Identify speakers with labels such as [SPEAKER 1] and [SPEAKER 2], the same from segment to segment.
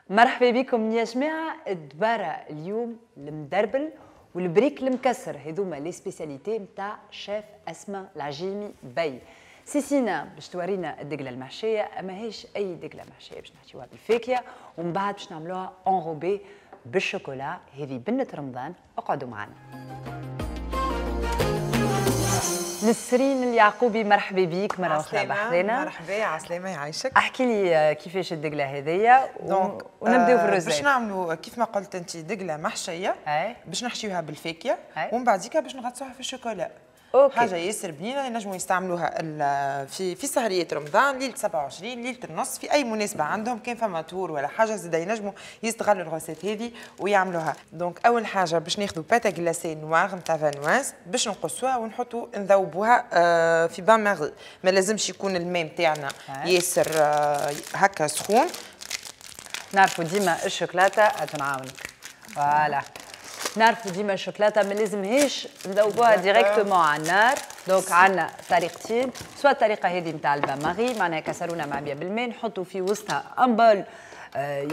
[SPEAKER 1] مرحبا بكم يا جماعة. الدبارة اليوم المدربل والبريك المكسر، هذوما les spécialités نتاع شيف أسماء العجيمي بي. سيسينا باش تورينا الدقلة المحشية، أما هيش أي دقلة محشية، باش نحشيوها بالفاكهة ومن بعد باش نعملوها enrobée بالشوكولا. هذه بنة رمضان، اقعدوا معنا. نسرين اليعقوبي مرحبا بيك مرة أخرى بحذانا.
[SPEAKER 2] مرحبا، عسلامة، يعيشك.
[SPEAKER 1] احكي لي كيفاش الدقلة هذيا ونبداو في ال recette.
[SPEAKER 2] باش نعملوا كيف ما قلت أنت دقلة محشية، باش نحشيوها بالفاكهة ومن بعديك باش نغطسوها في الشوكولا.
[SPEAKER 1] OK.
[SPEAKER 2] حاجة ياسر بنينة ينجموا يستعملوها في سهرية رمضان، ليلة 27، ليلة النص، في أي مناسبة عندهم، كان فما tour ولا حاجة زادا ينجموا يستغلوا ال recette هذه ويعملوها. donc أول حاجة باش ناخذوا pâte à glacer noire نتاع Vanoise، باش نقصوها ونحطوا نذوبوها في bain-marie. ما لازمش يكون الماء نتاعنا ياسر هكا سخون.
[SPEAKER 1] نعرفوا ديما الشوكولاتة تنعاونك. voilà، نعرفوا ديما الشوكولاتة ما لازمهاش نذوبوها directement على النار. donc عندنا طريقتين، soit الطريقة هذه نتاع ال bain-marie، معناها كسرونه معبيه بالماء نحطوا في وسطها un bol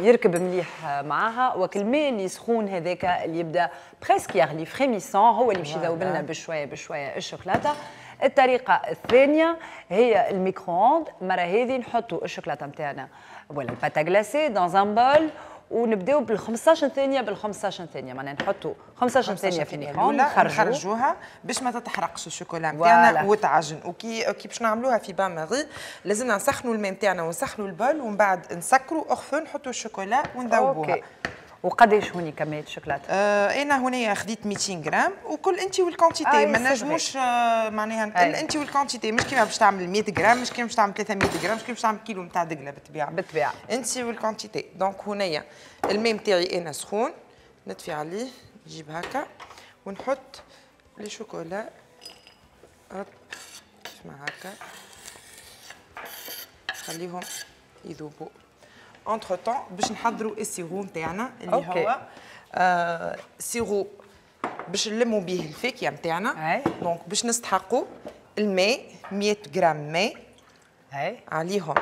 [SPEAKER 1] يركب مليح معاها، وكل الماء اللي سخون هذاك اللي يبدا presque يغلي frémissant هو اللي باش يذوب لنا بشوية بشوية الشوكولاتة. الطريقة الثانية هي ال micro-ondes، المرة هذه نحطوا الشوكولاتة نتاعنا ولا ال pâte à glacer dans un bol ونبداو بال 15 ثانية، بال 15 ثانية معناها نحطوا 15 ثانية في ال micro-ondes،
[SPEAKER 2] نخرجوها باش ما تتحرقش الشوكولا نتاعنا وتعجن. وكي باش نعملوها في bain-marie لازمنا نسخنوا الماء نتاعنا ونسخنوا ال bol ومن بعد نسكروا hors feu، نحطوا الشوكولا ونذوبوها.
[SPEAKER 1] OK. وقداش هوني كمية الشوكولاتة؟
[SPEAKER 2] انا هنا خديت 200 غرام، وكل انت وال quantité، ما نجموش معناها انت وال quantité، مش كيما باش تعمل 100 غرام، مش كيما باش تعمل 300 غرام، مش كيما باش تعمل كيلو نتاع دقله. بالطبيعة
[SPEAKER 1] بالطبيعة
[SPEAKER 2] انت وال quantité. donc هنايا الماء نتاعي انا سخون، نطفي عليه، نجيب هكا ونحط les chocolats كيف ما هكا، خليهم يذوبوا. entre-temps باش نحضروا ال sirop نتاعنا اللي هو sirop باش نلموا به الفاكهة نتاعنا. donc باش نستحقوا الماء 100 غرام ماء، عليهم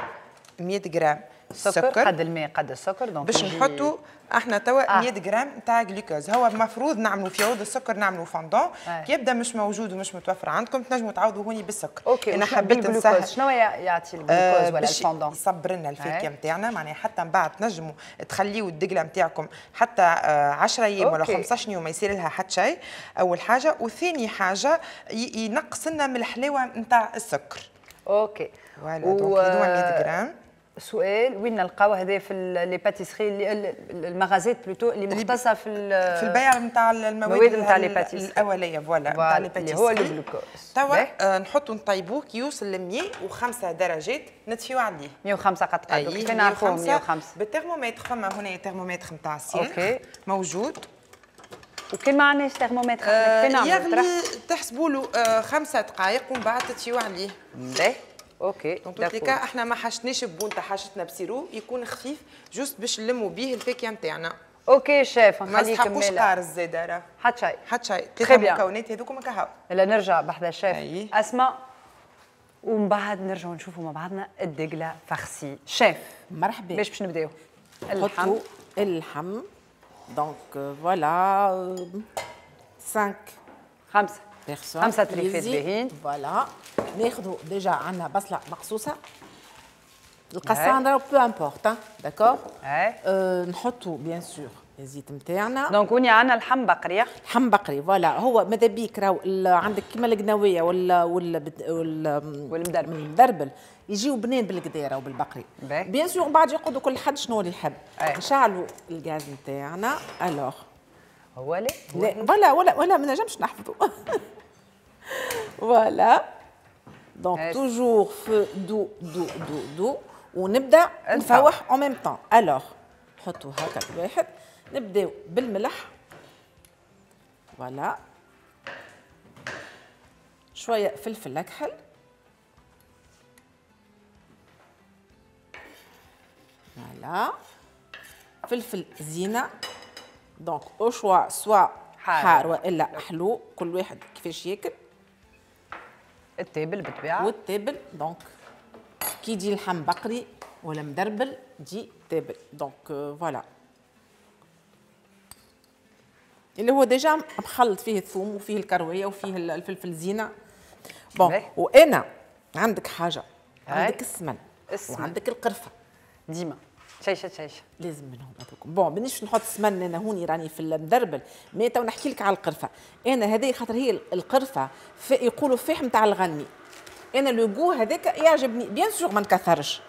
[SPEAKER 2] 100 غرام
[SPEAKER 1] سكر، قد الماء قد السكر. donc
[SPEAKER 2] باش نحطوا احنا توا 100 غرام تاع جلوكوز. هو المفروض نعملوا في عوض السكر نعملوا فوندون، كي يبدا مش موجود ومش متوفر عندكم تنجموا تعوضوا هوني بالسكر.
[SPEAKER 1] OK. انا حبيت نسهل. شنو يعطي الجلوكوز ولا الفوندون؟
[SPEAKER 2] يصبر لنا الفاكهة نتاعنا، معناها حتى من بعد تنجموا تخليوا الدقله نتاعكم حتى 10 ايام ولا 15 يوم ما يصير لها حتى شيء. اول حاجة، وثاني حاجة ينقص لنا من الحلاوة نتاع السكر.
[SPEAKER 1] OK.
[SPEAKER 2] voilà، donc هذوما 100 غرام.
[SPEAKER 1] سؤال، وين نلقاو هذا؟ في les pâtisseries، المغازات plutôt اللي مختصة في
[SPEAKER 2] البيع نتاع المواد
[SPEAKER 1] نتاع les pâtisseries
[SPEAKER 2] الاولية. voilà نتاع les pâtisseries
[SPEAKER 1] اللي هو الجلوكوز.
[SPEAKER 2] توا نحطوا نطيبوه كي يوصل ل 105 درجات نطفيو عليه.
[SPEAKER 1] 105 قد قد كيف نعرفوه 105؟
[SPEAKER 2] بالترمومتر، فما هنا ترمومتر نتاع السيخ موجود.
[SPEAKER 1] وكان ما عندناش ترمومتر كيف نعملوا؟
[SPEAKER 2] يغلي تحسبوا له 5 دقائق ومن بعد تطفيو عليه.
[SPEAKER 1] باهي. OK.
[SPEAKER 2] donc tous les cas احنا ما حشتناش بونتا، حشتنا ب sirop يكون خفيف juste باش نلموا به الفاكهة نتاعنا.
[SPEAKER 1] OK chef،
[SPEAKER 2] نخليك ما نستحقوش قارص زاده، راه
[SPEAKER 1] حتى شيء
[SPEAKER 2] حتى شيء، ثلاثة مكونات هذوكم كهو.
[SPEAKER 1] الا نرجع بحذا شيف اسماء ومن بعد نرجعوا نشوفوا مع بعضنا الدقله farcie. chef
[SPEAKER 3] مرحبا.
[SPEAKER 1] باش نبداو؟
[SPEAKER 3] اللحم. اللحم donc voilà 5
[SPEAKER 1] 5
[SPEAKER 3] personnes،
[SPEAKER 1] 5 تريفات باهيين.
[SPEAKER 3] voilà، ناخذوا déjà عندنا بصله مقصوصة، القصان راهو peu importe، d'accord. نحطوا bien sûr الزيت نتاعنا.
[SPEAKER 1] donc هوني عندنا اللحم بقري.
[SPEAKER 3] لحم بقري voilà. هو ماذا بيك راهو عندك كيما القناويه ولا
[SPEAKER 1] والمدربل،
[SPEAKER 3] المدربل يجيو بنين بالقديره وبالبقري. bien sûr بعد يقعدوا كل حد شنو اللي يحب. نشعلوا الغاز نتاعنا. alors
[SPEAKER 1] هو لا
[SPEAKER 3] voilà ولا ولا ما نجمش نحفظوا. voilà donc toujours feu doux doux doux doux، ونبدا نفوح en même temps. alors نحطو هكا واحد، نبداو بالملح. voilà، شوية فلفل اكحل، voilà فلفل زينة. donc au choix، soit حار والا حلو، كل واحد كيفاش ياكل.
[SPEAKER 1] التابل بالطبيعة.
[SPEAKER 3] والتابل donc كي يجي اللحم بقري ولا مدربل تجي تابل. donc voilà اللي هو déjà مخلط فيه الثوم وفيه الكروية وفيه الفلفل زينة. bon وانا عندك حاجة، عندك السمن وعندك القرفه
[SPEAKER 1] ديما شيشة شيشة
[SPEAKER 3] لازم منهم هذوك. bon مانيش نحط سمن انا هوني راني في المدربل، mais تو نحكي لك على القرفه. انا هذه خاطر هي القرفه يقولوا فيح نتاع الغنمي، انا le goût هذاك يعجبني bien sûr ما نكثرش،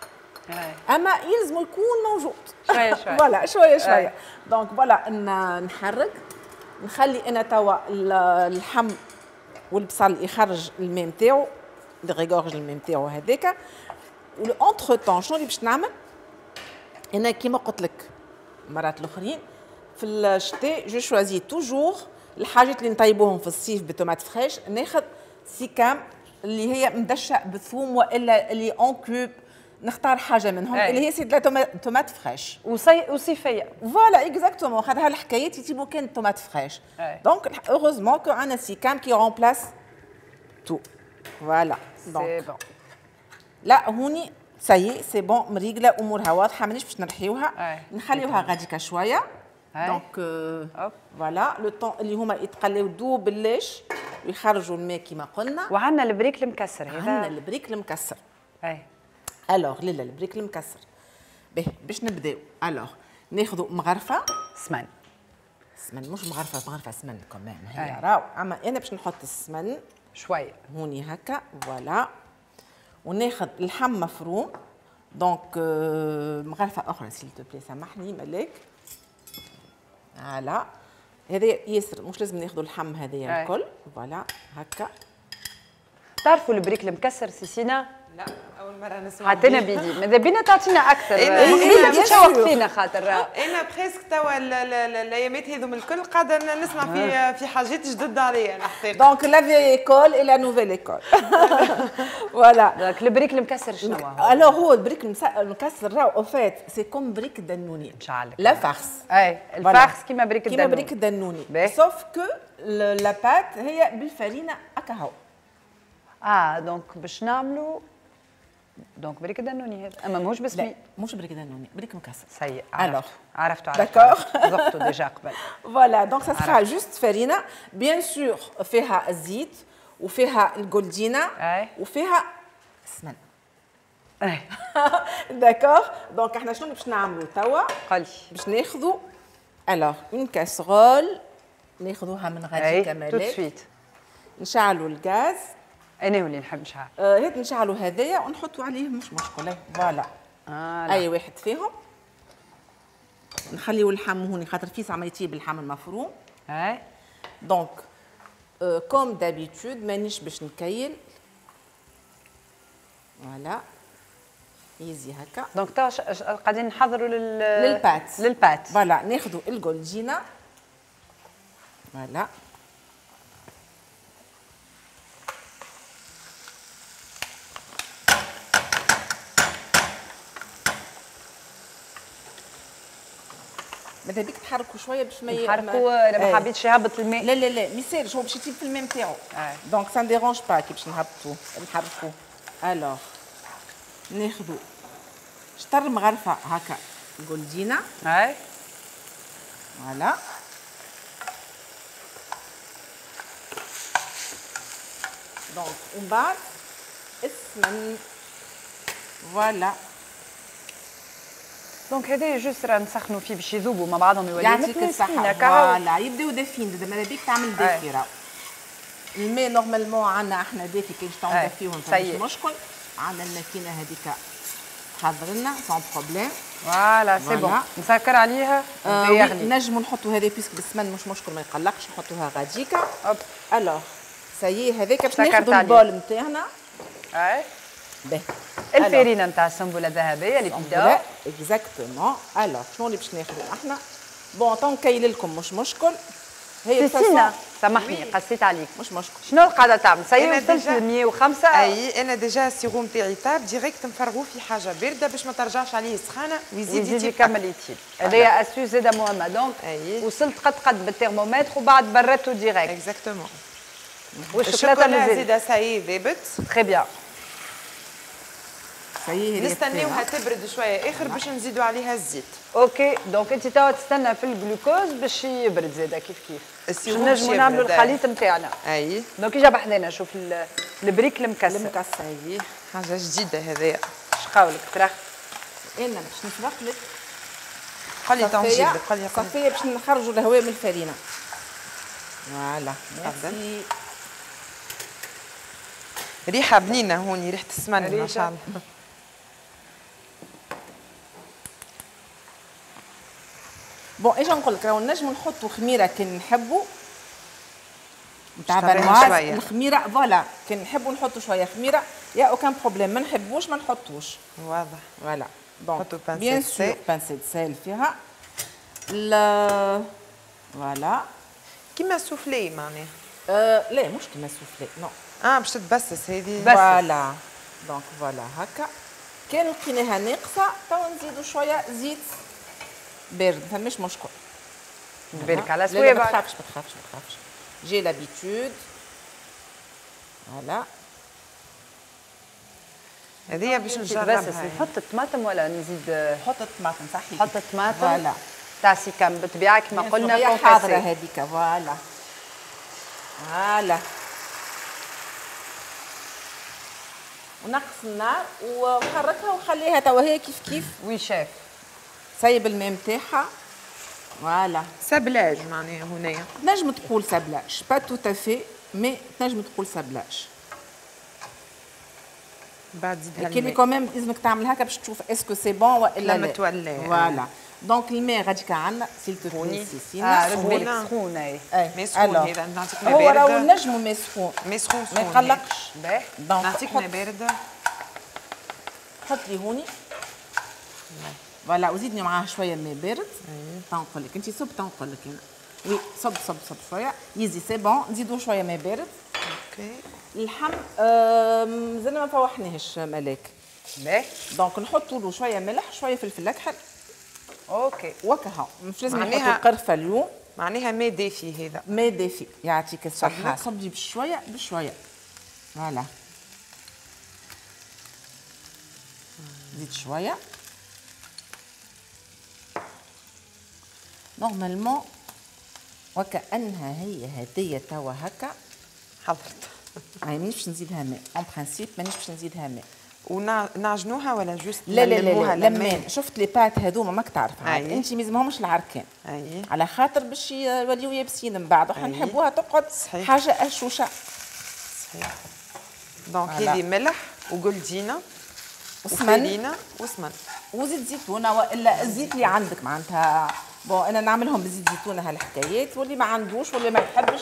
[SPEAKER 3] اما يلزم يكون موجود
[SPEAKER 1] شوية شوية.
[SPEAKER 3] voilà شوية شوية. donc voilà نحرك، نخلي انا توا اللحم والبصل يخرج الماء نتاعو، dégorge الماء نتاعو هذاك. و entre-temps شنو اللي باش نعمل؟ انا كيما قلت لك المرات الاخرين في الشتاء je choisis toujours الحاجات اللي نطيبوهم في الصيف ب tomates fraîches، ناخذ سيكام اللي هي مدشه بالثوم والا اللي en cubes، نختار حاجة منهم اللي هي c'est la tomate fraîche
[SPEAKER 1] وصيفيه.
[SPEAKER 3] voilà exactement، خاطر هالحكايات يطيبوا كان tomate fraîche. donc heureusement que عندنا سيكام qui remplace tout. voilà
[SPEAKER 1] c'est bon.
[SPEAKER 3] لا هوني ça y est c'est bon مريقله، امورها واضحة، مانيش باش نرحيوها، نخليوها غاديكا شوية. donc voilà le temps اللي هما يتقلاو دوب باللاش ويخرجوا الماء كيما قلنا.
[SPEAKER 1] وعندنا البريك المكسر هذا،
[SPEAKER 3] عندنا البريك المكسر.
[SPEAKER 1] اي
[SPEAKER 3] alors لا البريك المكسر به باش نبداو. alors ناخذوا مغرفه
[SPEAKER 1] سمن،
[SPEAKER 3] سمن مش مغرفه، مغرفه سمن كمان هي راهو، اما انا باش نحط السمن
[SPEAKER 1] شوية
[SPEAKER 3] هوني هكا voilà. وناخذ اللحم مفروم، donc مغرفه اخرى s'il te plaît، سامحني ملاك. voilà هذا ياسر، مش لازم ناخذوا اللحم هذايا الكل. voilà هكا.
[SPEAKER 1] تعرفوا البريك المكسر سيسينا؟
[SPEAKER 2] لا اول مرة نسمع.
[SPEAKER 1] حتى انا بيدي ماذا بينا تعطينا اكثر، قبيلة تشوق فينا خاطر
[SPEAKER 2] انا presque توا الايامات هذوم الكل قاعدة نسمع في حاجات جدد عليا الحقيقة.
[SPEAKER 3] donc la vieille école et la nouvelle école. voilà.
[SPEAKER 1] donc البريك المكسر شنو هو؟
[SPEAKER 3] alors هو البريك المكسر راهو au fait c'est comme بريك الدنوني la farce.
[SPEAKER 1] اي ال farce كيما بريك الدنوني،
[SPEAKER 3] كيما بريك الدنوني، sauf que la pâte هي بالفرينه هكا هو.
[SPEAKER 1] donc باش نعملوا donc بريك دانوني هذا، اما ماهوش بسمي،
[SPEAKER 3] مش بريك دانوني، بريك مكسر.
[SPEAKER 1] ça y est عرفتو
[SPEAKER 3] d'accord،
[SPEAKER 1] ذقتو déjà قبل.
[SPEAKER 3] voilà donc ça sera juste فرينه bien sûr فيها الزيت وفيها الجولدينا وفيها السمن.
[SPEAKER 1] اي
[SPEAKER 3] d'accord. donc احنا شنو باش نعملو توا؟
[SPEAKER 1] قولي.
[SPEAKER 3] باش ناخذو alors une casserole، ناخذوها من غادي كمالك
[SPEAKER 1] tout de suite.
[SPEAKER 3] نشعلوا الغاز.
[SPEAKER 1] انا هو اللي نحب نشعل.
[SPEAKER 3] هات نشعلوا هذايا ونحطوا عليه مش مشكلة. voilà اي واحد فيهم. نخليو اللحم هوني خاطر فيس عم يطيب اللحم المفروم.
[SPEAKER 1] اي
[SPEAKER 3] donc comme d'habitude مانيش باش نكيل. voilà easy هكا.
[SPEAKER 1] donc توا قاعدين نحضروا
[SPEAKER 3] لل pâte،
[SPEAKER 1] لل pâte.
[SPEAKER 3] voilà ناخذوا الجولدينا. voilà ماذا بيك تحركوا شوية باش ما
[SPEAKER 1] نحركوا، لا ما حبيتش يهبط الماء.
[SPEAKER 3] لا لا لا ما يسالش، هو باش يطيب في الماء نتاعو. donc ça dérange pas كي باش نهبطوه نحركوه. alors ناخذوا شطر مغرفه هكا جولدينا.
[SPEAKER 1] اي
[SPEAKER 3] voilà donc ومن بعد السمن. voilà
[SPEAKER 1] donc هذا juste راه نسخنوا فيه باش يذوبوا مع بعضهم يوليو
[SPEAKER 3] يعطيك الصحة. voilà يبداو دافين، ماذا بيك تعمل دافي. راه الماء normalement عندنا احنا دافي، كي باش تعمل دافيهم مش مشكل. عندنا الماكينة هذيك تحضر لنا sans problème.
[SPEAKER 1] voilà c'est bon نسكر عليها
[SPEAKER 3] يغلي. نجموا نحطوا هذا puisque بالسمن مش مشكل ما يقلقش، نحطوها غاديكا. alors ça y est هذاك باش ناخذوا ال bol نتاعنا.
[SPEAKER 1] اي
[SPEAKER 3] باهي
[SPEAKER 1] الفرينة نتاع السنبله الذهبية اللي بيدا
[SPEAKER 3] exactement. alors شنو اللي باش ناخذوا احنا؟ bon تو نكيل لكم مش مشكل.
[SPEAKER 1] هي سيسينا سامحني قصيت عليك.
[SPEAKER 3] مش مشكل.
[SPEAKER 1] شنو القاعدة تعمل؟ ça y est وصلت ل 105.
[SPEAKER 2] اي انا déjà ال sirop نتاعي طاب direct نفرغوه في حاجة باردة باش ما ترجعش عليه السخانه ويزيد
[SPEAKER 1] يكمل يطيب. هذايا astuce زاده مهمة. donc وصلت قد قد بالترمومتر وبعد بردته direct.
[SPEAKER 2] exactement.
[SPEAKER 1] والشوكولاته مازال
[SPEAKER 2] زاده ça y est ذابت.
[SPEAKER 1] très bien.
[SPEAKER 2] نستناوها تبرد شوية اخر باش نزيدوا عليها الزيت.
[SPEAKER 1] OK donc انت توا تستنى في الجلوكوز باش يبرد زاده كيف كيف باش نجموا نعملوا الخليط نتاعنا.
[SPEAKER 2] اي
[SPEAKER 1] donc اجا بحذانا شوف البريك المكسر.
[SPEAKER 3] المكسر
[SPEAKER 2] اي حاجة جديدة هذايا.
[SPEAKER 1] اش قولك ترى؟
[SPEAKER 3] انا باش نسبق لك
[SPEAKER 2] قولي تنجيب لك قولي
[SPEAKER 3] صفيه باش نخرجوا الهواء من الفرينة. voilà merci.
[SPEAKER 2] ريحه بنينه هوني، ريحه السمن ما شاء الله.
[SPEAKER 3] bon اجا نقول لك راهو نجمو نحطوا خميره كي نحبوا نتاع viennoise، الخميره voilà كي نحبوا نحطوا شوية خميره y a aucun problème، ما نحبوش ما نحطوش.
[SPEAKER 2] واضح.
[SPEAKER 3] voilà donc bien sûr pincée de sel فيها voilà
[SPEAKER 2] كيما سوفلي معناها.
[SPEAKER 3] لا مش كيما soufflé non.
[SPEAKER 2] باش تتبسس هذه.
[SPEAKER 3] voilà donc voilà هكا كان لقيناها ناقصه تو نزيدوا شوية زيت بارد، ما فماش مشكل.
[SPEAKER 1] بالك على سويبك.
[SPEAKER 3] ما تخافش ما تخافش ما تخافش، j'ai l'habitude. voilà
[SPEAKER 2] هذه باش نجربها.
[SPEAKER 1] بس نحط الطماطم ولا نزيد؟
[SPEAKER 3] حط الطماطم صحيح،
[SPEAKER 1] حط الطماطم voilà تاع سيكام بالطبيعة كما قلنا
[SPEAKER 3] هي حاضره هذيك. voilà voilà ونقص النار وحركها وخليها توا هي كيف كيف.
[SPEAKER 1] oui chef
[SPEAKER 3] سايب الماء نتاعها. voilà
[SPEAKER 2] sablage معناها هنايا
[SPEAKER 3] تنجم تقول sablage pas tout à fait mais تنجم تقول sablage.
[SPEAKER 2] بعد زيدها
[SPEAKER 3] الماء كي quand même لازمك تعمل هكا باش تشوف est-ce que c'est bon والا
[SPEAKER 2] لا. تولي
[SPEAKER 3] voilà donc الماء غاديك عندنا s'il te plaît سيسينا
[SPEAKER 1] سخون سخون. اي
[SPEAKER 2] ماء سخون هذا نعطيك ماء
[SPEAKER 3] هو
[SPEAKER 2] بارد.
[SPEAKER 3] راهو نجمو ماء سخون،
[SPEAKER 2] ماء سخون
[SPEAKER 3] ما يقلقش.
[SPEAKER 1] باهي
[SPEAKER 2] نعطيك ماء بارد.
[SPEAKER 3] حط لي هوني voilà وزيدني معاه شوية ماء بارد. تنقول لك انت صب، تنقول لك انا oui صب صب صب شوية يزي c'est bon. نزيدو شوية ماء بارد.
[SPEAKER 2] OK
[SPEAKER 3] اللحم مازلنا ما فوحناهش ملاك.
[SPEAKER 1] باهي
[SPEAKER 3] donc نحطوا له شوية ملح شوية فلفل اكحل.
[SPEAKER 1] OK
[SPEAKER 3] وكها مش لازم نحطوا قرفه اليوم.
[SPEAKER 2] معناها ماء دافي هذا.
[SPEAKER 3] ماء دافي يعطيك الصحة. صبي بشوية بشوية. voilà زيد شوية. normalement وكأنها هي هدية توا هكا
[SPEAKER 2] حضرت.
[SPEAKER 3] مانيش باش نزيدها ماء en principe، مانيش باش نزيدها ماء.
[SPEAKER 2] ونعجنوها ولا juste؟
[SPEAKER 3] لا لا لا لا لمان. شفت les pâtes هذوما ماك تعرف عاد انت ما يلزمهمش العركان.
[SPEAKER 2] أي.
[SPEAKER 3] على خاطر باش يوليو يابسين من بعد، وحنا نحبوها تقعد حاجة هشوشه.
[SPEAKER 2] صحيح. donc هذه ملح وقلدينه
[SPEAKER 3] وسمن
[SPEAKER 2] وسمن
[SPEAKER 3] وزيت زيتونه والا الزيت اللي عندك معناتها. bon انا نعملهم بزيت زيتونه هالحكايات، واللي ما عندوش واللي ما يحبش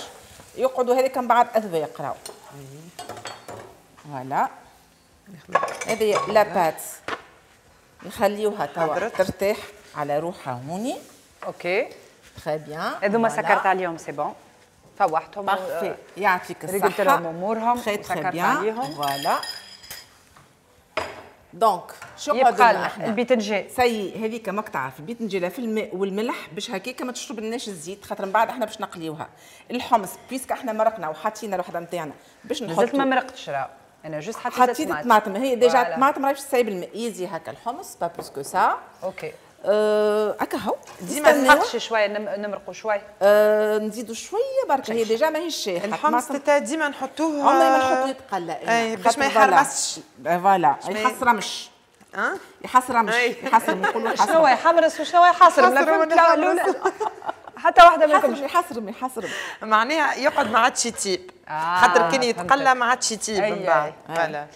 [SPEAKER 3] يقعدوا هذيك من بعد اذواق راهو. voilà هذه la pâte نخليوها توا ترتاح على روحها هوني.
[SPEAKER 1] OK
[SPEAKER 3] très bien.
[SPEAKER 1] هذوما سكرت عليهم c'est bon، فوحتهم
[SPEAKER 3] parfait يعطيك الصحة،
[SPEAKER 1] رجلت لهم امورهم
[SPEAKER 3] سكرت عليهم. voilà donc شو
[SPEAKER 1] يبقى لنا البيتنجان
[SPEAKER 3] ça y est هذيك ماك تعرف البيتنجان في الماء والملح باش هكاك ما تشرب لناش الزيت، خاطر من بعد احنا باش نقليوها. الحمص puisque احنا مرقنا وحطينا الوحدة نتاعنا باش نحطو.
[SPEAKER 1] مازلت ما مرقتش راه انا juste حطيت
[SPEAKER 3] الطماطم، هي déjà الطماطم راهي باش تسيب الماء. يزي هكا الحمص pas plus que ça.
[SPEAKER 1] OK
[SPEAKER 3] هكا هو
[SPEAKER 1] ديما نسحقش شوية نمرقوا شوية. نزيدوا
[SPEAKER 3] شوية برك، هي déjà ماهيش شايحه.
[SPEAKER 2] الحمص تاع ديما نحطوه،
[SPEAKER 3] عمري ما نحطوه يتقلى
[SPEAKER 2] باش ما يحرمش.
[SPEAKER 3] voilà يحصرمش. يحصرمش يحصرم نقولوا
[SPEAKER 1] شنو هو يحمرس وشنو هو يحصرم؟ لا فهمت لا حتى واحدة منكم.
[SPEAKER 3] يحصرم يحصرم
[SPEAKER 2] معناها يقعد ما عادش يطيب، خاطر كان يتقلى ما عادش يطيب من بعد. voilà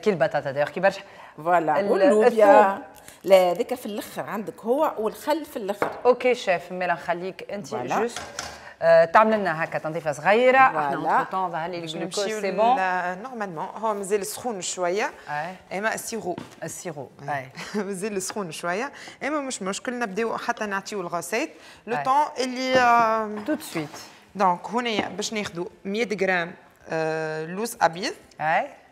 [SPEAKER 1] كي البطاطا دايوغ كي برشا.
[SPEAKER 3] voilà واللوبيا لا هذاك في الاخر عندك هو والخل في الاخر.
[SPEAKER 1] OK chef ميلا نخليك انت juste تعمل لنا هكا تنظيفه صغيرة. احنا entre-temps ظهر لي الجلوكوز c'est bon
[SPEAKER 2] normalement هو مازال سخون شوية. اما ال sirop
[SPEAKER 1] ال sirop اي
[SPEAKER 2] مازال سخون شوية، اما مش مشكل نبداو حتى نعطيو ال recette le temps اللي
[SPEAKER 1] tout de suite.
[SPEAKER 2] donc هنا باش ناخذوا 100 غرام لوز ابيض،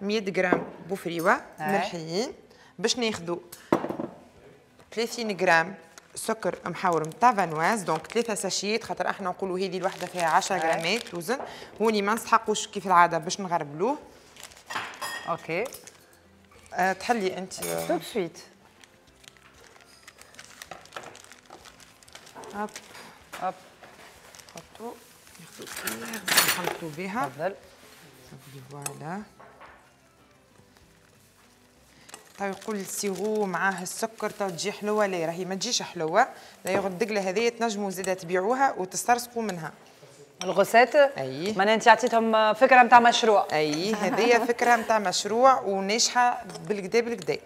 [SPEAKER 2] 100 غرام بوفريوه مرحيين، باش ناخذوا 30 غرام سكر محور نتاع viennoise، donc 3 sachets خاطر احنا نقولوا هذه الوحدة فيها 10 غرامات وزن. هوني ما نسحقوش كيف العادة باش نغربلوه.
[SPEAKER 1] OK
[SPEAKER 2] تحلي انت
[SPEAKER 1] tout de suite.
[SPEAKER 2] hop
[SPEAKER 1] hop
[SPEAKER 2] نحطو نخلطو بها.
[SPEAKER 1] تفضل.
[SPEAKER 2] voilà تو يقول ال sirop معاه السكر تو تجي حلوة، لا راهي ما تجيش حلوة. d'ailleurs الدقله هذه تنجموا زاده تبيعوها وتسترزقوا منها
[SPEAKER 1] ال recette.
[SPEAKER 2] اي
[SPEAKER 1] معناها انت عطيتهم فكرة نتاع مشروع.
[SPEAKER 2] اي هذه فكرة نتاع مشروع وناجحة بالكدا بالكدا.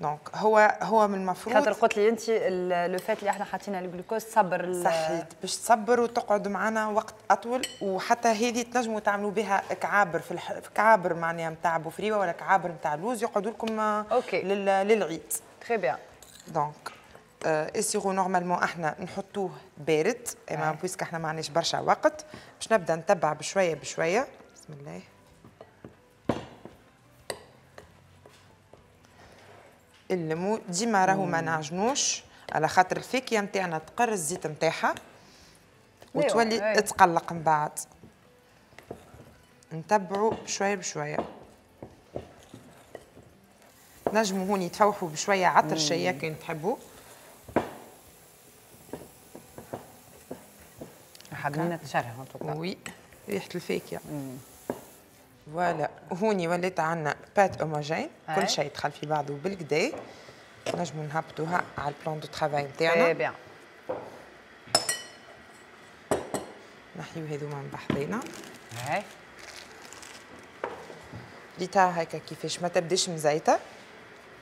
[SPEAKER 2] donc هو من المفروض
[SPEAKER 1] خاطر قلت لي انت le fait اللي احنا حاطين الجلوكوز تصبر.
[SPEAKER 2] صحيت باش تصبر وتقعد معنا وقت اطول. وحتى هذه تنجموا تعملوا بها كعابر في كعابر معناها نتاع بوفريوه ولا كعابر نتاع لوز يقعدوا لكم للعيد.
[SPEAKER 1] très bien.
[SPEAKER 2] donc ال sirop normalement احنا نحطوه بارد، اما puisque احنا ما عندناش برشا وقت باش نبدا نتبع بشوية بشوية. بسم الله. الليمون ديما راهو ما نعجنوش على خاطر الفاكهة نتاعنا تقر الزيت نتاعها وتولي تقلق من بعد. نتبعوا بشوية بشوية. نجموا هوني تفوحوا بشوية عطرشيه كان تحبوا.
[SPEAKER 1] حابين نتشرها.
[SPEAKER 2] oui ريحه الفاكهة. voilà هوني ولات عندنا pâte homogène، كل شيء دخل في بعضه بالكدا. نجمو نهبطوها على ال plan de travail نتاعنا.
[SPEAKER 1] très bien.
[SPEAKER 2] نحيو هذوما من بحذينا.
[SPEAKER 1] هاي
[SPEAKER 2] ريتها هكا كيفاش ما تبداش مزيته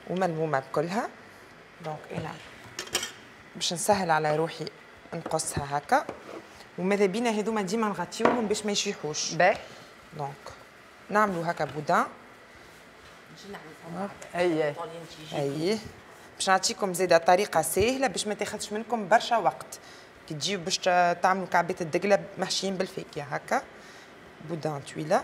[SPEAKER 2] وملمومه بكلها. donc انا باش نسهل على روحي نقصها هكا، وماذا بينا هذوما ديما نغطيوهم باش ما يشيحوش.
[SPEAKER 1] باهي.
[SPEAKER 2] donc نعملوا هكا boudin.
[SPEAKER 1] اي
[SPEAKER 2] اي باش نعطيكم زاده طريقه سهلة باش ما تاخذش منكم برشا وقت كي تجيو باش تعملوا كعبات الدقله محشيين بالفاكهه هكا boudin طويلة.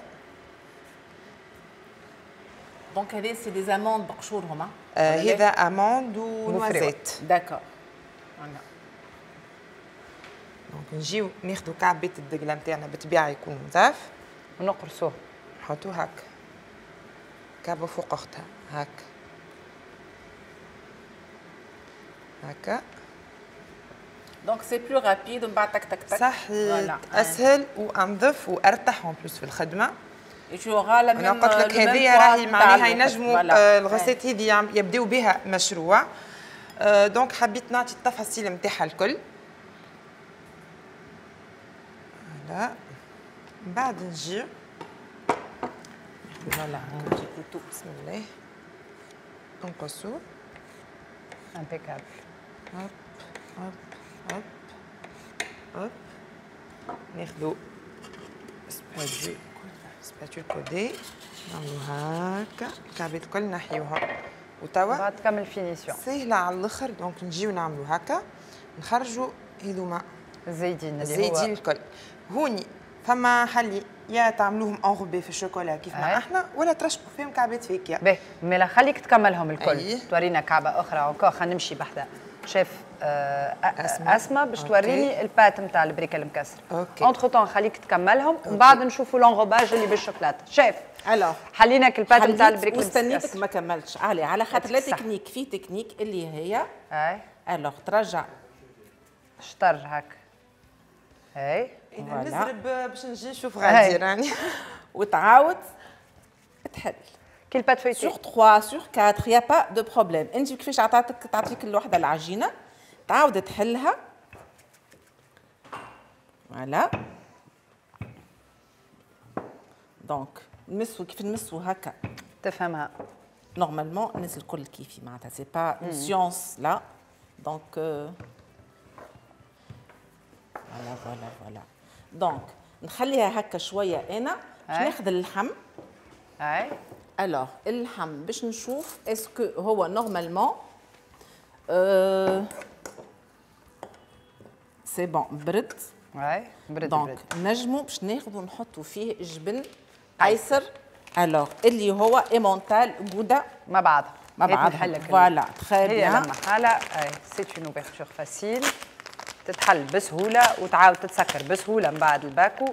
[SPEAKER 3] donc هذا c'est des amandes بقشورهم.
[SPEAKER 2] هذا amandes و noisettes.
[SPEAKER 3] d'accord.
[SPEAKER 2] donc نجيو ناخذوا كعبات الدقله نتاعنا بالطبيعة يكونوا نظاف
[SPEAKER 1] ونقرصوه،
[SPEAKER 2] نحطوه هكا كعبه فوق اختها هكا هكا.
[SPEAKER 3] donc c'est plus rapide ومن بعد تك تك تك.
[SPEAKER 2] صحيح اسهل وانظف وارتاح en plus في الخدمة.
[SPEAKER 3] انا
[SPEAKER 2] قلت لك هذه راهي معناها ينجموا ال recette هذه يبداو بها مشروع. donc حبيت نعطي التفاصيل نتاعها الكل. voilà من بعد نجي voilà بسم الله نقصو
[SPEAKER 1] impeccable.
[SPEAKER 2] hop hop hop hop ناخذو spatule coudée نعملو هكا الكعبات الكل نحيوها. وتوا
[SPEAKER 1] بعد تكمل finition
[SPEAKER 2] سهلة على الاخر. donc نجيو نعملو هكا نخرجو هذوما
[SPEAKER 1] الزايدين
[SPEAKER 2] الزايدين الكل. هوني فما حل يا تعملوهم enrobés في الشوكولا كيف ما احنا ولا ترشقوا فيهم كعبات فاكهة.
[SPEAKER 1] باهي مالا خليك تكملهم الكل. أيه. تورينا كعبه اخرى encore. خلينا نمشي بحذا شيف اسماء باش توريني ال pâte نتاع البريكه المكسره. entre-temps خليك تكملهم ومن بعد نشوفوا l'enrobage اللي بالشوكولاته. chef
[SPEAKER 3] alors
[SPEAKER 1] حلينا ال pâte نتاع البريكه
[SPEAKER 3] واستنيتك ما كملتش علي على خاطر la technique في تكنيك اللي هي
[SPEAKER 1] اي
[SPEAKER 3] alors ترجع
[SPEAKER 1] شطر هكا. اي
[SPEAKER 2] انا نزرب باش نجي نشوف غادي راني
[SPEAKER 3] وتعاود تحل
[SPEAKER 1] كي ال pâte feuilletée
[SPEAKER 3] sur 3 sur 4 y a pas de problème. انت كيفاش عطاتك تعطيك الوحدة العجينة تعاود تحلها. voilà donc نمسو كيف نمسو هكا
[SPEAKER 1] تفهمها
[SPEAKER 3] normalement الناس الكل كيفي معناتها c'est pas une science là. donc voilà voilà voilà donc نخليها هكا شوية انا باش ناخذ اللحم.
[SPEAKER 1] اي
[SPEAKER 3] alors اللحم باش نشوف est-ce que هو normalement c'est bon برد.
[SPEAKER 1] اي برد
[SPEAKER 3] donc نجمو باش ناخذو نحطو فيه جبن قيصر alors اللي هو emmental gouda
[SPEAKER 1] مع بعض
[SPEAKER 3] مع بعض. voilà très bien.
[SPEAKER 1] هي لما حاله اي c'est une ouverture facile تتحل بسهولة وتعاود تتسكر بسهولة من بعد الباكو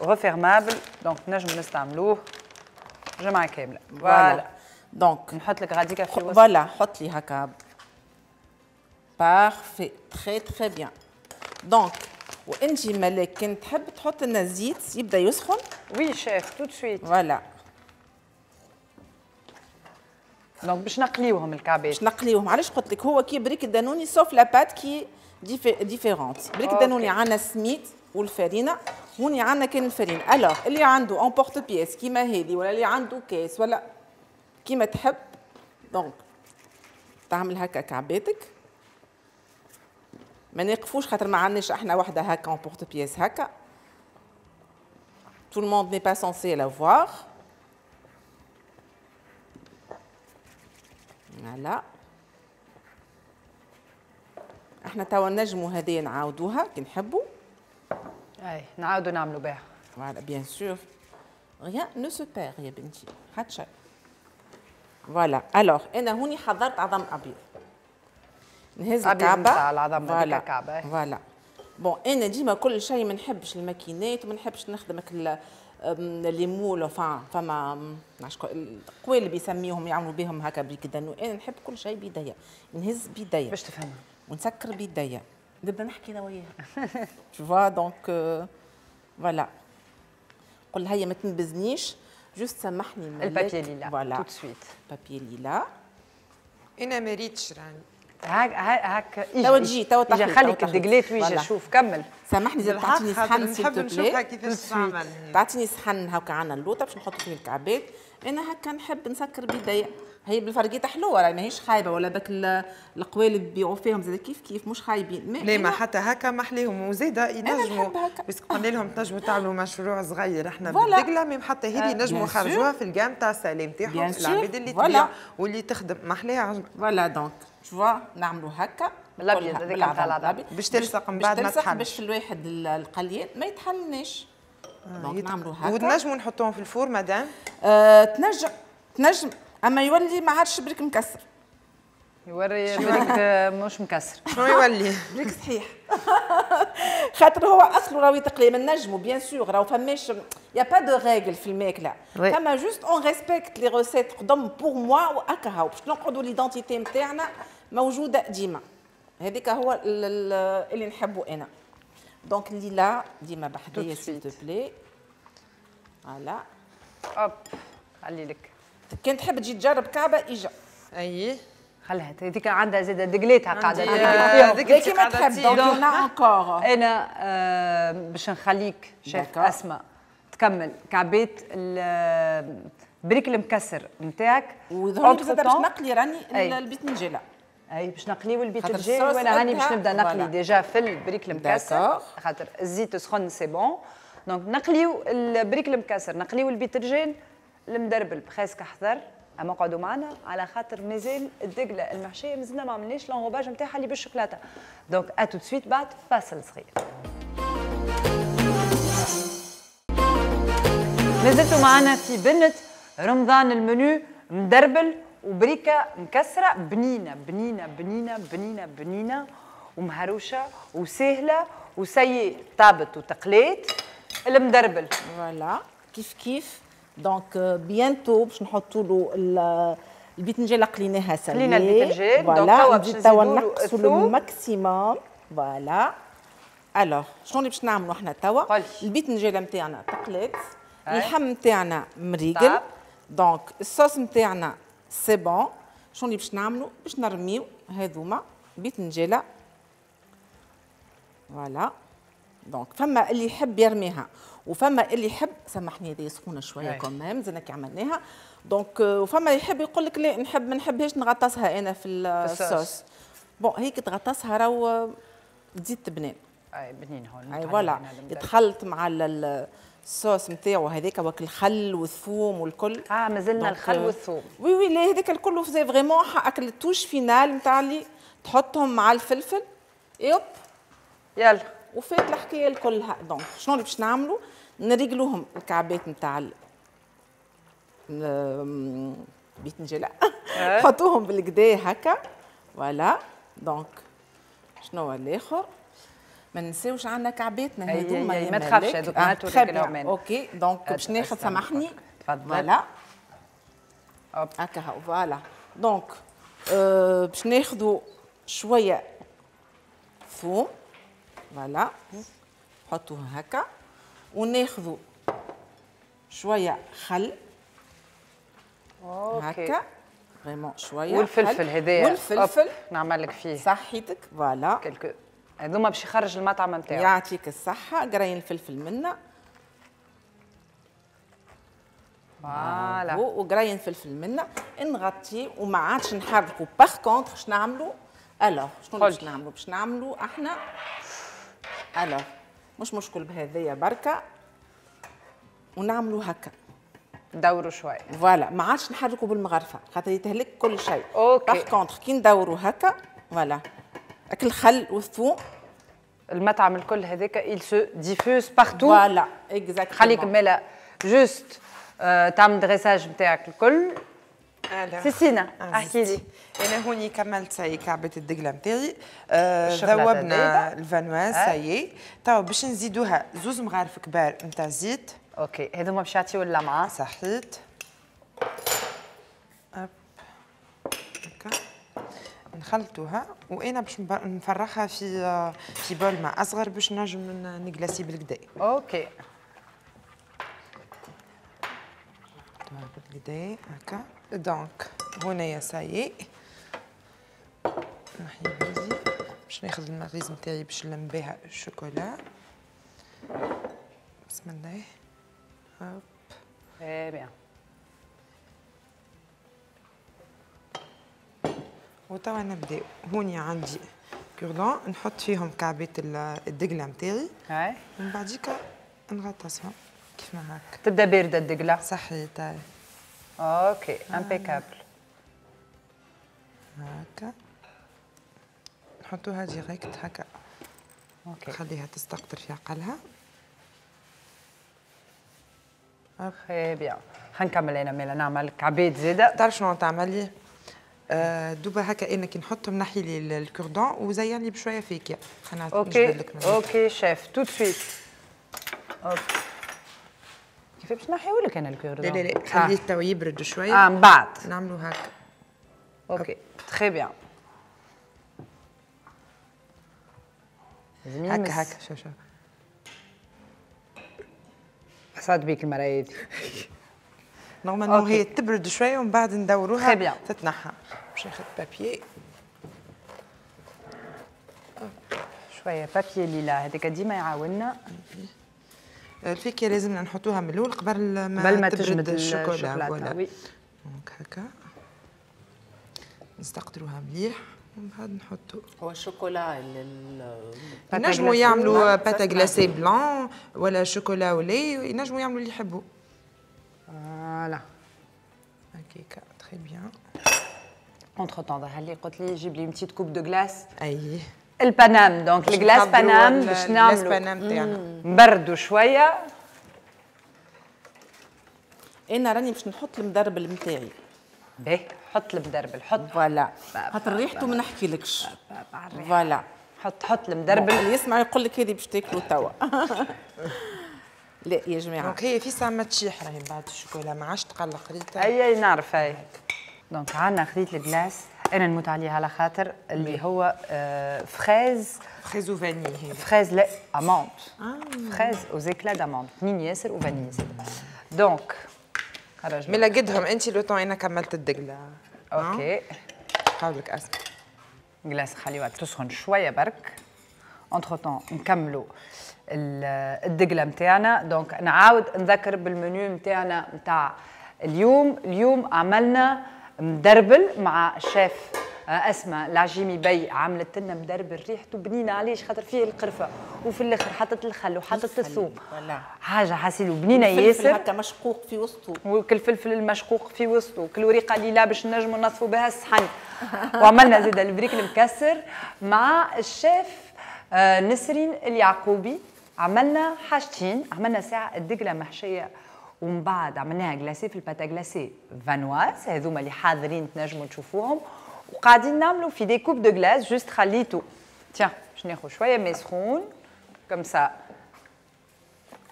[SPEAKER 1] refermable. donc نجم نستعملوه جمعه كاملة.
[SPEAKER 3] voilà donc
[SPEAKER 1] نحط لك غاديكا في الوسط.
[SPEAKER 3] voilà حط لي هكا parfait très très bien. donc وانت ملاك كان تحب تحط لنا الزيت يبدا يسخن.
[SPEAKER 1] oui chef tout de suite.
[SPEAKER 3] voilà
[SPEAKER 1] donc باش نقليوهم الكعبات.
[SPEAKER 3] باش نقليوهم، علاش قلت لك هو كي بريك الدانوني sauf la pâte qui est différente. بريك الدانوني عندنا السميد والفارينه، هوني عندنا كان الفارينه. alors اللي عنده emporte-pièce كيما هذه ولا اللي عنده كاس ولا كيما تحب، donc تعمل هكا كعباتك. ما نقفوش خاطر ما عندناش احنا وحده هكا emporte-pièce هكا. Tout le monde n'est pas censé la voir. Voilà. احنا توا نجمو هذه نعاودوها كي نحبوا.
[SPEAKER 1] اي نعاودو نعملو بها.
[SPEAKER 3] voilà bien sûr. Rien ne se perd يا بنتي، حتى شيء. voilà alors انا هوني حضرت عظم ابيض. نهز الكعبة
[SPEAKER 1] العظم هذيك الكعبة.
[SPEAKER 3] voilà bon انا ديما كل شيء ما نحبش الماكينات وما نحبش نخدم les moules، فما القوالب يسميهم يعملوا بهم هكا بريك دانو. انا نحب كل شيء بيديا، نهز بيديا
[SPEAKER 1] باش تفهمها
[SPEAKER 3] ونسكر بيديا، نبدا نحكي انا وياها. tu vois donc voilà قول لها هي ما تنبزنيش، juste سامحني
[SPEAKER 1] ال papier lilas voilà tout de suite
[SPEAKER 3] papier lilas.
[SPEAKER 2] انا ما ريتش راني
[SPEAKER 1] هاك هاك
[SPEAKER 3] توا تجي توا تاخذ
[SPEAKER 1] خليك الدقلات ويجي شوف كمل.
[SPEAKER 3] سامحني زاد تعطيني صحن
[SPEAKER 2] نحب نشوفها كيفاش تعمل.
[SPEAKER 3] تعطيني صحن هاكا عندنا اللوطه باش نحط فيه الكعبات. انا هكا نحب نسكر بيديا، هي بالفرقيطه حلوة راهي ماهيش خايبة ولا باك القوالب يبيعوا فيهم زاد كيف كيف مش خايبين.
[SPEAKER 2] لا ما حتى هكا محليهم وزاده ينجموا parce que قلنا لهم تنجموا تعملوا مشروع صغير احنا بالدقله، même حتى هذه ينجموا يخرجوها في ال gamme تاع السلام تاعهم العباد اللي تبيع واللي تخدم محليها.
[SPEAKER 3] voilà donc tu vois نعملوا هكا
[SPEAKER 1] بالابيض هذاك نتاع العظم
[SPEAKER 2] باش تلصق من بعد ما تحلش،
[SPEAKER 3] باش الواحد القليان ما يتحلناش. donc نعملوا هكا
[SPEAKER 2] وتنجموا نحطوهم في ال four madame.
[SPEAKER 3] تنجم تنجم، اما يولي ما عادش بريك مكسر.
[SPEAKER 1] يوري بريك مش مكسر.
[SPEAKER 2] شنو يولي؟
[SPEAKER 3] بريك صحيح. خاطر هو اصله راهو يتقلي ما نجمو bien sûr راهو فماش y a pas de règle في الماكلة، فما juste on respecte les recettes قدم pour moi وهكا هاو باش نقعدوا l'identité نتاعنا موجودة ديما. هذيك هو اللي نحبو انا. donc lilas ديما بحذايا s'il te plaît. voilà
[SPEAKER 1] hop خلي لك
[SPEAKER 3] كان تحب تجي تجرب كعبه اجا.
[SPEAKER 2] اي
[SPEAKER 1] خليها هذيك عندها زاده دقليتها قاعدة تدقل
[SPEAKER 3] فيهم كيما تحب. donc انا encore
[SPEAKER 1] انا باش نخليك شيف اسماء تكمل كعبات البريك المكسر نتاعك.
[SPEAKER 3] وظهر زاده باش نقلي راني البيتنجيله.
[SPEAKER 1] اي باش نقليو البيتنجيل وانا هاني باش نبدا نقلي déjà في البريك المكسر خاطر الزيت سخن c'est bon. donc نقليو البريك المكسر، نقليو البيتنجيل المدربل presque احضر. اما قعدوا معنا على خاطر مازال الدقله المحشيه مازلنا ما عملناش l'enrobage نتاعها اللي بالشوكولاته. donc à tout de suite بعد فاصل صغير. مازلتوا معنا في بنة رمضان، المنيو مدربل وبريكه مكسرة بنينه بنينه بنينه بنينه بنينه ومهروشه وسهلة وسي طابت وتقليت المدربل.
[SPEAKER 3] voilà كيف كيف. donc bientôt باش نحطوا له البيتنجيل قليناها سلي.
[SPEAKER 1] قلينا البيتنجيل donc توا باش نزيدوا له
[SPEAKER 3] الثوم maximum. voilà alors شنو اللي باش نعملوا احنا توا؟ البيتنجيل نتاعنا تقلت، اللحم نتاعنا مريقل، donc ال sauce نتاعنا c'est bon. شنو اللي باش نعملوا؟ باش نرميو هذوما بيتنجيله. voilà donc فما اللي يحب يرميها وفما اللي يحب، سامحني هذه سخونة شوية quand même زدنا كي عملناها. donc وفما اللي يحب يقول لك لا نحب ما نحبهاش نغطسها انا في ال sauce. bon هيك تغطسها راهو تزيد تبنين.
[SPEAKER 1] اي بنين هون.
[SPEAKER 3] اي voilà يتخلط مع الصوص نتاعو هذاك وك الخل والثوم والكل.
[SPEAKER 1] مازلنا الخل والثوم.
[SPEAKER 3] oui oui لا هذاك الكل c'est vraiment اكل ال touche finale نتاع اللي تحطهم مع الفلفل et hop
[SPEAKER 1] يلا
[SPEAKER 3] وفات الحكاية الكلها. donc شنو اللي باش نعملوا؟ نريقلوهم الكعبات نتاع البيتنجيله نحطوهم بالكدا هكا. voilà donc شنو هو الاخر؟ ما ننساوش عندنا كعباتنا هذوما.
[SPEAKER 1] ما تخافش هذوك ما توريك
[SPEAKER 3] OK donc باش ناخذ سامحني
[SPEAKER 1] تفضل.
[SPEAKER 3] voilà هكا هاو voilà. donc باش ناخذوا شوية ثوم voilà نحطوه هكا، وناخذوا شوية خل هكا vraiment شوية،
[SPEAKER 1] والفلفل هذايا
[SPEAKER 3] والفلفل
[SPEAKER 1] نعمل لك فيه
[SPEAKER 3] صحيتك voilà.
[SPEAKER 1] quelques هذوما باش يخرج المطعم نتاعو.
[SPEAKER 3] يعطيك الصحة. قرين الفلفل منا
[SPEAKER 1] voilà،
[SPEAKER 3] وقرين فلفل منا نغطيه وما عادش نحركو. par contre باش نعملو alors شنو باش نعملو؟ باش نعملو احنا alors مش مشكل بهذيا بركة، ونعملو هكا
[SPEAKER 1] ندوروا شوية
[SPEAKER 3] voilà، ما عادش نحركوا بالمغرفه خاطر يتهلك كل شيء.
[SPEAKER 1] OK
[SPEAKER 3] par contre كي ندوروا هكا voilà اكل الخل والثوم
[SPEAKER 1] المطعم الكل هذاك il se diffuse partout.
[SPEAKER 3] voilà exactement.
[SPEAKER 1] خليك مالا juste تعمل dressage نتاعك الكل. سيسينا احكي لي.
[SPEAKER 2] انا هوني كملت ça y est كعبه الدقله نتاعي، ذوبنا ال viennoise ça y est. توا باش نزيدوها زوز مغارف كبار نتاع زيت.
[SPEAKER 1] OK هذوما باش يعطيو اللمعة.
[SPEAKER 2] صحيت. hop هكا نخلطوها، وانا باش نفرغها في bol مع اصغر باش نجم نجلاسي بالكدا.
[SPEAKER 1] OK
[SPEAKER 2] بالكدا هكا. donc هنايا ça y est نحي بيدي باش ناخذ المغريز نتاعي باش نلم بها الشوكولا. بسم الله. hop
[SPEAKER 1] très bien.
[SPEAKER 2] وتوا نبداو. هوني عندي cure-dents نحط فيهم كعبات الدقله نتاعي، ومن بعديك نغطسهم كيف ما هكا.
[SPEAKER 1] تبدا باردة الدقله.
[SPEAKER 2] صحيت.
[SPEAKER 1] OK impeccable.
[SPEAKER 2] هكا نحطوها direct هكا.
[SPEAKER 1] OK
[SPEAKER 2] خليها تستقطر في عقلها.
[SPEAKER 1] très bien. خلينا نكمل انا مالا نعمل كعبات زاده.
[SPEAKER 2] تعرف شنو تعمل لي؟ دوبا هكا انا كي نحطهم نحي لي ال cure-dent وزين لي بشوية فاكهة. خلينا
[SPEAKER 1] OK OK chef tout de suite. OK كيف باش نحيو لك انا ال cure-dent؟
[SPEAKER 2] لا لا لا خليه تو يبرد شوية.
[SPEAKER 1] من بعد
[SPEAKER 2] نعملو هكا.
[SPEAKER 1] OK très bien.
[SPEAKER 2] هكا هكا شوف شوف
[SPEAKER 1] صاد بيك المرة هذه.
[SPEAKER 2] normalement هي تبرد شوية ومن بعد ندوروها تتنحى. باش ناخذ papier
[SPEAKER 1] شوية papier lilas هذاك ديما يعاوننا.
[SPEAKER 2] الفاكهة لازمنا نحطوها من الاول قبل ما تجمد الشوكولا. voilà donc هكا نستقطروها مليح ومن بعد نحطو.
[SPEAKER 3] هو الشوكولا
[SPEAKER 2] ينجموا يعملوا pâte à glacer blanc ولا chocolat au lait، ينجموا يعملوا اللي يحبوا.
[SPEAKER 1] voilà
[SPEAKER 2] هكاكا très bien.
[SPEAKER 1] entre-temps ظهر لي قلت لي جيب لي petite coupe de glace.
[SPEAKER 2] اي
[SPEAKER 1] ال Paname donc ال glace Paname باش نعملوا
[SPEAKER 2] ال glace Paname تاعنا
[SPEAKER 1] نبردوا شوية.
[SPEAKER 3] انا راني باش نحط المدربل نتاعي.
[SPEAKER 1] باهي حط المدربل حط
[SPEAKER 3] voilà خاطر ريحته ما نحكيلكش. voilà
[SPEAKER 1] حط المدربل.
[SPEAKER 3] اللي يسمع يقول لك هذه باش تاكلوا توا. لا يا جماعة
[SPEAKER 2] donc هي في ساعة ما تشيح راهي من بعد الشوكولا ما عادش تقلق ريتها.
[SPEAKER 1] اي نعرف اي. donc عندنا خديت ال glace انا نموت عليها على خاطر اللي هو fraise
[SPEAKER 2] fraise و vanille.
[SPEAKER 1] fraise لا amande. fraise aux éclats d'amande بنين ياسر و vanille زاد. donc خرج
[SPEAKER 2] ملا قدهم انت le temps انا كملت الدقله.
[SPEAKER 1] OK
[SPEAKER 2] قولك اسمع
[SPEAKER 1] glace خليوها تسخن شوية برك. entre-temps نكملوا الدقله نتاعنا. donc نعاود نذكر بالمنيو نتاعنا نتاع اليوم. اليوم عملنا مدربل مع الشيف اسماء العجيمي بي، عملت لنا مدربل ريحته بنينه. علاش؟ خاطر فيه القرفه وفي الاخر حطت الخل وحطت الثوم، حاجة حاسيلو بنينه ياسر.
[SPEAKER 3] هكا مشقوق في وسطه،
[SPEAKER 1] وكل فلفل المشقوق في وسطه، وكل وريقه ليلى باش نجموا نصفوا بها الصحن. وعملنا زاد البريك المكسر مع الشيف نسرين اليعقوبي. عملنا حاجتين، عملنا ساعة الدقله محشيه ومن بعد عملناها glacée في ال pâte à glacer viennoise، هذوما اللي حاضرين تنجموا تشوفوهم. وقاعدين نعملوا في des coupes de glace juste خليتو tiens باش ناخذ شوية ماء سخون comme ça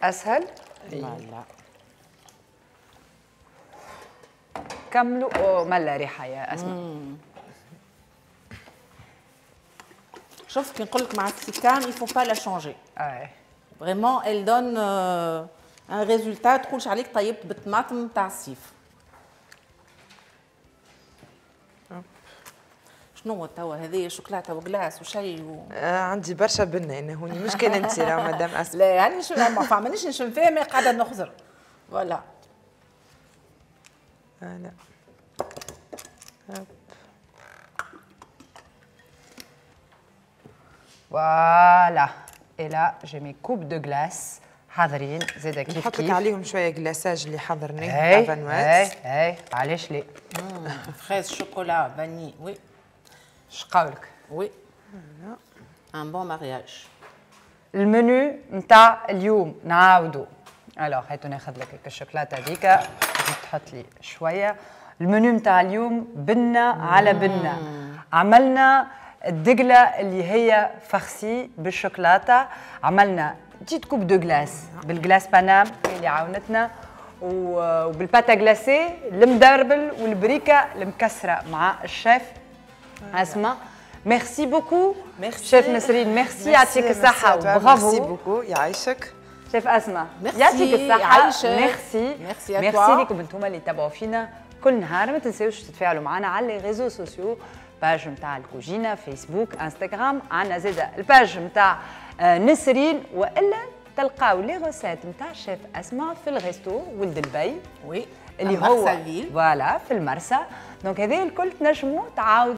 [SPEAKER 1] اسهل.
[SPEAKER 3] voilà
[SPEAKER 1] نكملوا. ملا ريحه يا اسماء.
[SPEAKER 3] شوف كي نقول لك مع السيكام il faut pas la changer.
[SPEAKER 1] اي
[SPEAKER 3] vraiment elle donne un résultat تقولش عليك طيبت بالطماطم تاع الصيف. شنو هو توا هذه شوكولاتة و glace وشيء
[SPEAKER 2] عندي برشا بنه انا هوني، مش كان انت راه مدام اسماء.
[SPEAKER 3] لا يعني شو ما مانيش نشم فيها، ما قاعدة نخزر. voilà
[SPEAKER 2] لا
[SPEAKER 1] voilà et là j'ai mes coupes de glace حاضرين زاده كيف كيف.
[SPEAKER 2] نحط لك عليهم شوية glaçage اللي حضرناه تاع viennoise.
[SPEAKER 1] اي علاش لا؟
[SPEAKER 3] fraise chocolat vanille oui.
[SPEAKER 1] شقاولك؟
[SPEAKER 3] oui un bon mariage.
[SPEAKER 1] ال menu نتاع اليوم نعاودو. alors هاتو ناخذ لك الشوكولاتة هذيك تحط لي شوية. المنيو نتاع اليوم بنه على بنه. عملنا الدقله اللي هي farcie بالشوكولاته، عملنا petites coupes de glace بال glace Paname اللي عاونتنا، وبال pâte à glacer المدربل والبريكه المكسره مع الشيف اسماء. merci beaucoup chef نسرين، ميرسي، يعطيك الصحة، bravo.
[SPEAKER 2] merci beaucoup، يعيشك
[SPEAKER 1] شيف اسماء، يعطيك الصحة. merci merci لكم انتم اللي تابعوا فينا كل نهار. ما تنساوش تتفاعلوا معنا على les réseaux sociaux، page نتاع الكوجينه فيسبوك انستغرام، عندنا زاده ال page نتاع نسرين، والا تلقاو les recettes نتاع شيف اسماء في ال resto ولد البي
[SPEAKER 3] oui
[SPEAKER 1] اللي هو voilà في المرسى. donc هذا الكل تنجموا تعاودوا